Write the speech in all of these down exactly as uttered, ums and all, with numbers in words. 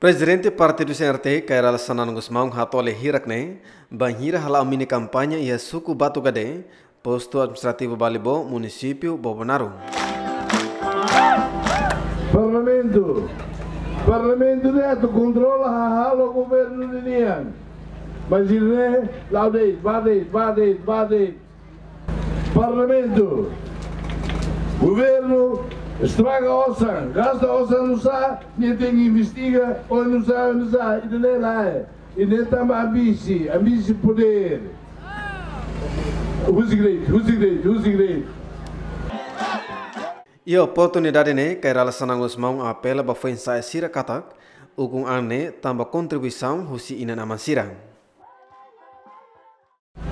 Prezidente Partidu C N R T, Kay Rala Xanana Gusmão, hato'o lia hirak-ne'e bainhira hala'o mini kampaña iha suku Batu Gade, postu administrativu Balibo, munisípiu Bobonaro. Parlamentu. Parlamentu ne'e atu kontrola hahalok governu ninian. Mas ida-ne'e la'o de'it, bá de'it, bá de'it, bá de'it. Parlamentu. Governu estraga osan, gasta osan nusá, nia tenke investiga, oinsá, oinsá, ida-ne'e lae. Ida-ne'e tanba ambisi, ambisi podér. Husik de'it, husik de'it, husik de'it. Iha oportunidade ne'e, Kay Rala Xanana Gusmão apela ba foin-sa'e sira katak ukun an ne'e tanba kontribuisaun husi inan-aman sira.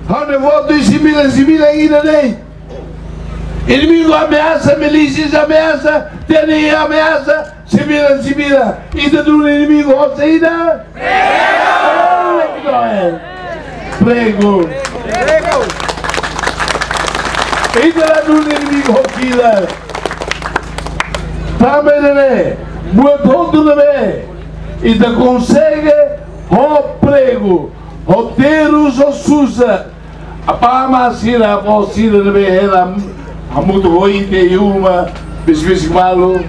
Ha'u-nia votu iha sembilan sembilan ida de'it. Inimigu ameasa, milísia ameasa, T N I ameasa, sembilan sembilan. Ita duni inimigu hosi ida? Pregu. Pregu. Ita la duni inimigu hosi ida. Tanba ne'e, buat hotu ne'ebé ita konsege ho pregu, ho terus, ho susar. Apá amá sira, avó sira ne'ebé hela hamutuk ho ita iha uma, besik-besik malu.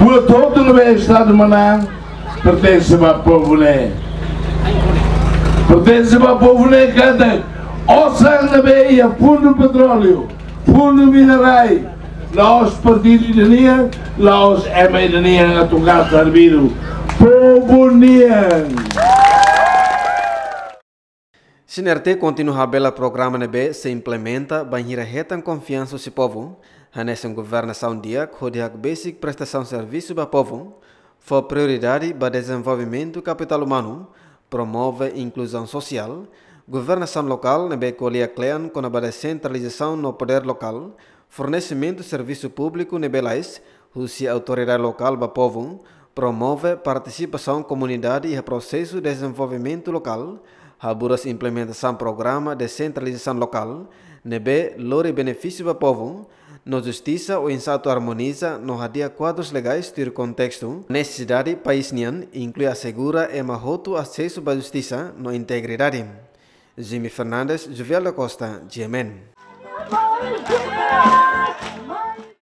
Buat hotu ne'ebé Estadu manán pertense ba povu ne'e. Pertense ba povu ne'e katak osan ne'ebé iha fundu petróleu, fundu minerál, la'ós partidu ida nian, la'ós ema ida nian atu gasta arbiru. Povu nian. C N R T kontinua habelar programa ne'ebé sei implementa bainhira hetan konfiansa husi povu, hanesan governasaun di'ak, hodi hakbesik prestasaun servisu ba povu, fó prioridade ba dezenvolvimentu kapitál umanu, promove inkluzaun sosiál, governasaun lokál ne'ebé ko'alia kle'an kona-ba desentralizasaun no podér lokál, fornesimentu servisu públiku ne'ebé lalais husi autoridade lokál ba povu, promove partisipasaun komunidade iha prosesu dezenvolvimentu lokál, haburas implementasaun programa desentralizasaun lokál ne'ebé lori benefísiu ba povu, no justisa oinsá atu armoniza no hadi'a kuadrus legais tuir kontestu, nesesidade país nian, inklui asegura ema hotu asesu ba justisa no integridade. Jimmy Fernandes, Jovial da Costa, G M N.